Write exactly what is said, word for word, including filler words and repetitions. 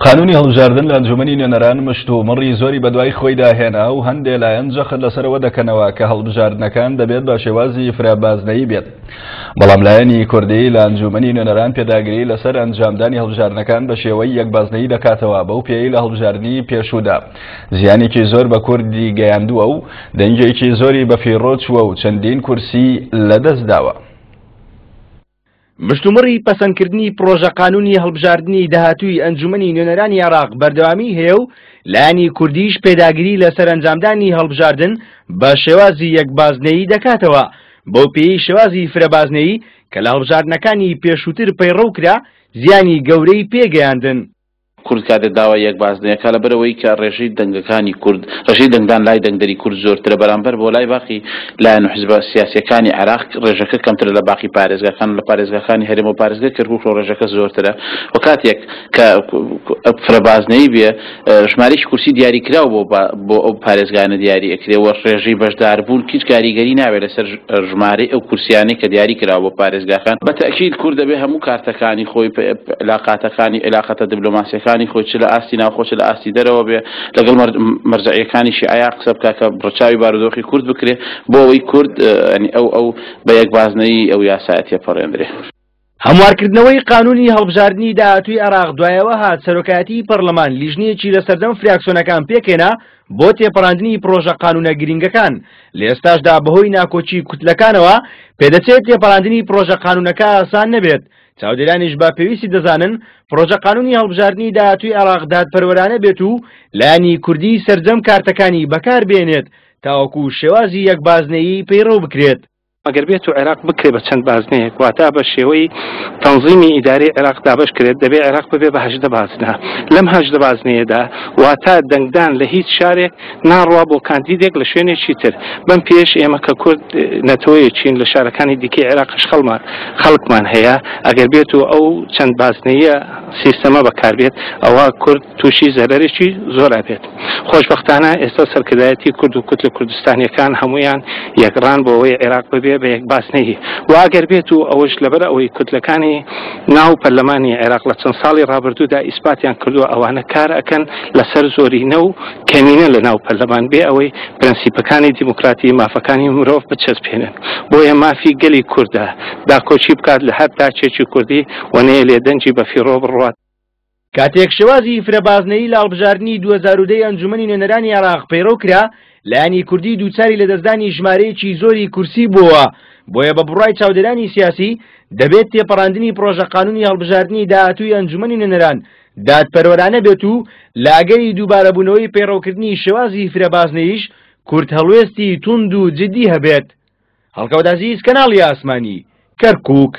قانونی هەڵبژاردن لە ئەنجومەنی نوێنەران مشتومڕی زۆری بەدوای خۆیدا هێنا و هەندێ لایەن جەخت لەسەرەوە دەکەنەوە کە هەڵبژاردنەکان دەبێت بە شێوازی فرەبازنەیی بێت. بەڵام لایەنی کوردی لە ئەنجومەنی نوێنەران پێداگری لەسەر ئەنجامدانی هەڵبژاردنەکان بە شێوەی یەکبازنەیی دەکاتەوە، بەو پێی لە هەڵبژاردنی پێشوودا زیانێکی زۆر بە کوردی گەیاندووە و دەنگێکی زۆری بەفیڕۆ چووە و چەندین کورسی لەدەست داوە. مشتومڕی پەسەندکردنی پرۆژە قانونی هەڵبژاردنی داهاتووی ئەنجومەنی نوێنەرانی عێراق بەردەوامی هەیە و لایەنی کوردیش پێداگری لەسەر ئەنجامدانی هەڵبژاردن بە شێوازی یەکبازنەیی دەکاتەوە، بەو پێی شێوازی فرەبازنەیی کە لە هەڵبژاردنەکانی پێشووتر پەیڕەو کرا زیانی گەورەی پێگەیاندن. کورد کاتێ داوای یەک بازنەیەکە لەبەرەوەی کە ڕێژەی دەنگەکانی کورد، ڕێژەی دەنگدان لای دەنگدەری کورد زۆرترە بەرامبەر بۆ لای باقی لایەن و حزبە سیاسیەکانی عێراق ڕێژەکە کەمترە لە باقی پارێزگاکان، لە پارێزگاکانی هەرێم و پارێزگای کەرکووک ڕێژەکە زۆرترە. و کاتێک کە فرەبازنەیی بێ ژمارەیەکی کورسی دیاریکراو بۆ بۆ ئەو پارێزگانە دیاری ئەکرێ و ڕێژەی بەشداربوون هیچ کاریگەری ناوێت لەسەر ژمارەی ئەو کورسیانەی کە دیاری کراوە بۆ پارێزگاکان. بە تەئکید کورد دەبێ هەموو کارتەکانی خۆی، علاقاتەکانی، علاقەتە دیبلۆماسیەکانی خۆی چ لە ئاستی ناوخۆ چ لە ئاستی دەرەوە بێ لەگەڵ مەرجەعیەکانی شیعەیا قسە بکا کە ڕەچاوی بارودۆخی کورد بکرێ بۆ ئەوەی کورد ئەو ئەو بە یەکبازنەیی ئەو یاسایە تێپەڕێندرێ. هەموارکردنەوەی قانونی هەڵبژاردنی داهاتووی عێراق دوایەوە هات سەرۆکایەتی پەرلەمان لیژنەیەکی لە سەردەم فراکسیۆنەکان پێکهێنا بۆ تێپەڕاندنی پرۆژە قانونە گرنگەکان. لە ئێستاشدا بەهۆی ناکۆکی کوتلەکانەوە پێدەچێت تێپەڕاندنی پرۆژە قانونەکە ئاسان نەبێت. چاودێرانیش بە پێویستی دەزانن پرۆژە قانونی هەڵبژاردنی داهاتووی عێراق دادپەروەرانە بێت و لایەنی کوردی سەرجەم کارتەکانی بەکاربێنێت تاوەکو شێوازی یەکبازنەیی پەیڕەو بکرێت. ئەگەر بێت و عێراق بکرێ بە چەند بازنەیەک، واتا بە شێوەی تەنظیمی ئیداری عێراق دابەش کرێت، دەبێ عێراق ببێ بە هەژدە بازنە. لەم هەژدە بازنەیەدا واتا دەنگدان لە هیچ شارێک ناڕوا بۆ کاندیدێک لە شوێنێکی تر. بەم پێش ئێمە کە کورد نەتەوەیەکین لە شارەکانی دیکەی عێراقش خەڵکمان هەیە، ئەگەر بێت و ئەو چەند بازنەیە سیستەمە بەکاربێت ئەوە کورد تووشی زەرەرێکی زۆر ئەبێت. خۆشبەختانە ئێستا سەرکردایەتی کورد و کوتلە کوردستانیەکان هەمویان یەکڕان بۆ ئەوەی عێراق ببێ بە یەک بازنەیی. و ئەگەر بێت و ئەوەش لەبەر ئەوەی کوتلەکانی ناو پەرلەمانی عێراق لە چەند ساڵی ڕابردوودا ئیسپاتیان کردووە ئەوانە کار ئەکەن لەسەر زۆرینە و کەمینە لە ناو پەرلەمان بێ ئەوەی پرەنسیپەکانی دیموکراتی مافەکانی مرۆڤ بچەسپێنن. بۆیە مافی گەلی کوردە داکۆکی بکات لە هەر تاچێکی کوردی و نەیەلێ دەنگی بەفیڕۆ بڕوات. کاتێک شێوازی فرەبازنەیی لە هەڵبژاردنی دوو هەزار و دە ئەنجومەنی نوێنەرانی عێراق پەیڕەو کرا، لایەنی کوردی دووچاری لەدەستدانی ژمارەیەکی زۆری کورسی بووە. بۆیە بە بڕوای چاودێرانی سیاسی دەبێت تێپەڕاندنی پرۆژە قانونی هەڵبژاردنی داهاتووی ئەنجومەنی نوێنەران دادپەروەرانە بێت و لە ئەگەری دووبارەبوونەوەی پەیڕەوکردنی شێوازی فرەبازنەییش کورد هەڵوێستی توند و جدی هەبێت. هەڵکەوت عەزیز، کەناڵی ئاسمانی، کەرکووک.